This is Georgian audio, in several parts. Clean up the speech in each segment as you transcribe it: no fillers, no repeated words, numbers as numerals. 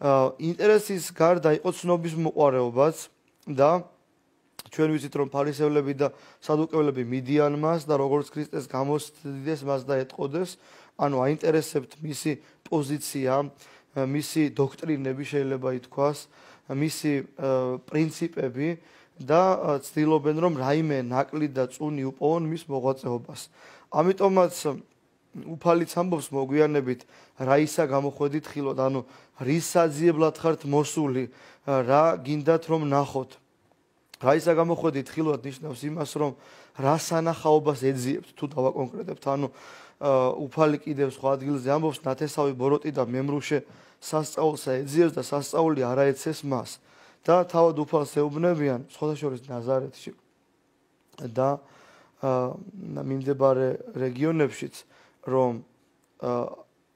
ინტერესის გარდა იყო ცნობის მოყვარეობაც და ჩვენ ვიცით რომ ფარისევლები და სადუკევლები მიდიან მას და როგორც ქრისტეს გამოსცდეს მას და ეტყოდეს, ანუ აინტერესებთ მისი პოზიცია, მისი დოქტრინები შეიძლება ითქვას, მისი პრინციპები და ცდილობენ რომ რაიმე ნაკლი და წუნი უპოვონ მის მოღვაწეობას. ამიტომაც უფალიც ამბობს მოგვიანებით რა ისა გამოხვედით ხილოთ, ანუ რის საძიებლად ხართ მოსული, რა გინდათ რომ ნახოთ. რა ისა გამოხვედით ხილოთ ნიშნავს იმას რომ რა სანახაობას ეძიებთ თუ დავაკონკრეტებთ, ანუ უფალი კიდევ სხვა ადგილზე ამბობს ნათესავი ბოროტი და მემრუშე სასწაულსა ეძიებს და სასწაული არ აეცეს მას და თავად უფალს ეუბნებიან სხვადასხვა ნაზარეთში და მიმდებარე რეგიონებშიც რომ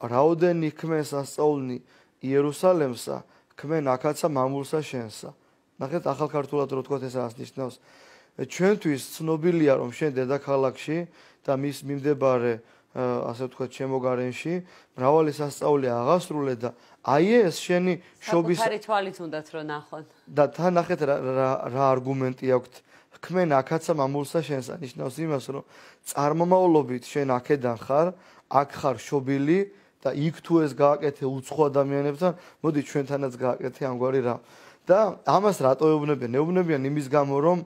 რაოდენი ქმენ სასწაულნი იერუსალემსა ქმენ აქაცა მამულსა შენსა. ნახეთ ახალ ქართულად რო თქვათ ეს რას ნიშნავს. ჩვენთვის ცნობილია რომ შენ დედაქალაქში და მის მიმდებარე ასე ვთქვათ შემოგარენში მრავალი სასწაული აღასრულე და აი ეს შენი შობის საკუთარი თვალით უნდათ რომ ნახოთ. და თან ნახეთ რა არგუმენტი აქვთ. ქმენ აქაცა მამულსა შენსა ნიშნავს იმას რომ წარმომავლობით შენ აქედან ხარ, აქ ხარ შობილი და იქ თუ ეს გააკეთე უცხო ადამიანებთან, მოდი ჩვენთანაც გააკეთე ამგვარი რა. და ამას რატო ეუბნებიან? ეუბნებიან იმის გამო რომ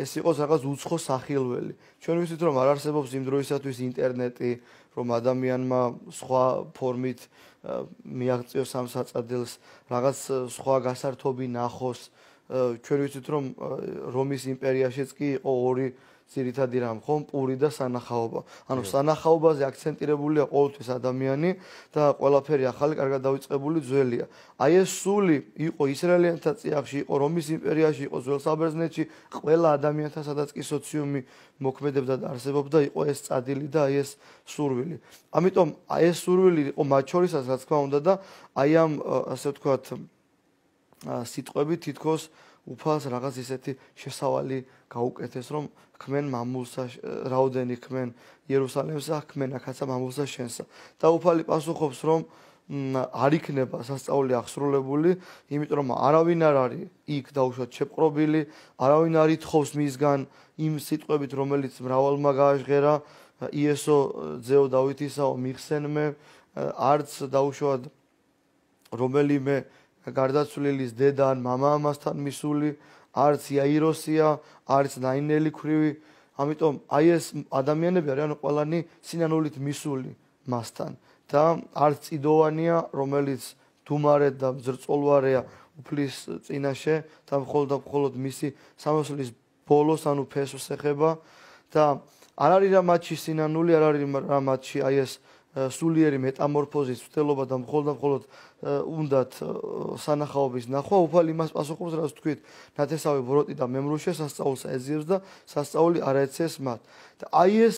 ეს იყოს რაღაც უცხო სახილველი. ჩვენ ვიცით რომ არ არსებობს იმ დროისათვის ინტერნეტი, რომ ადამიანმა სხვა ფორმით მიაღწიოს ამ საწადილს, რაღაც სხვა გასართობი ნახოს. ჩვენ ვიცით რომ რომის იმპერიაშიც კი იყო ორი ძირითადი რამ, ხომ, პური და სანახაობა. ანუ სანახაობაზე აქცენტირებულია ყოველთვის ადამიანი და ყველაფერი ახალი კარგად დავიწყებული ძველია. აი ეს სული იყო ისრაელიანთა წიაღში, იყო რომის იმპერიაში, იყო ძველ საბერძნეთში, ყველა ადამიანთა სადაც კი სოციუმი მოქმედებდა და არსებობდა, იყო ეს წადილი და აი ეს სურვილი. ამიტომ აი ეს სურვილი იყო მათ შორისაც, რა თქმა უნდა და აი ამ ასე ვთქვათ სიტყვები თითქოს უფალს რაღაც ისეთი შესავალი გაუკეთეს, რომ ქმენ მამულსა, რაოდენი ქმენ იერუსალემსა, ქმენ აქაცა მამულსა შენსა. და უფალი პასუხობს, რომ არ იქნება სასწაული აღსრულებული, იმიტომ რომ არავინ არ არის იქ დაუშვათ შეპყრობილი, არავინ არ ითხოვს მისგან იმ სიტყვებით, რომელიც მრავალმა გააჟღერა, იესო ძეო დავითისაო მიხსენმე, არც დაუშვათ რომელიმე გარდაცვლილის დედა ან მამა ამასთან მისული, არც იაიროსია, არც ნაინელი ქვრივი. ამიტომ აი ეს ადამიანები არიან ყველანი სინანულით მისული მასთან და არც წიდოვანია, რომელიც დუმარედ და ძრწოლვარეა უფლის წინაშე და მხოლოდ მისი სამოსლის ბოლოს ანუ ფესვს ეხება და არ არის რა მათში სინანული, არ არის რა მათში აი ეს სულიერი მეტამორფოზის ცდელობა და მხოლოდ უნდათ სანახაობის ნახვა. უფალი იმას პასუხობს, რაც თქვით, ნათესავი ბოროტი და მემრუშე სასწაულს ეძიებს და სასწაული არ ეცეს მათ. და აი ეს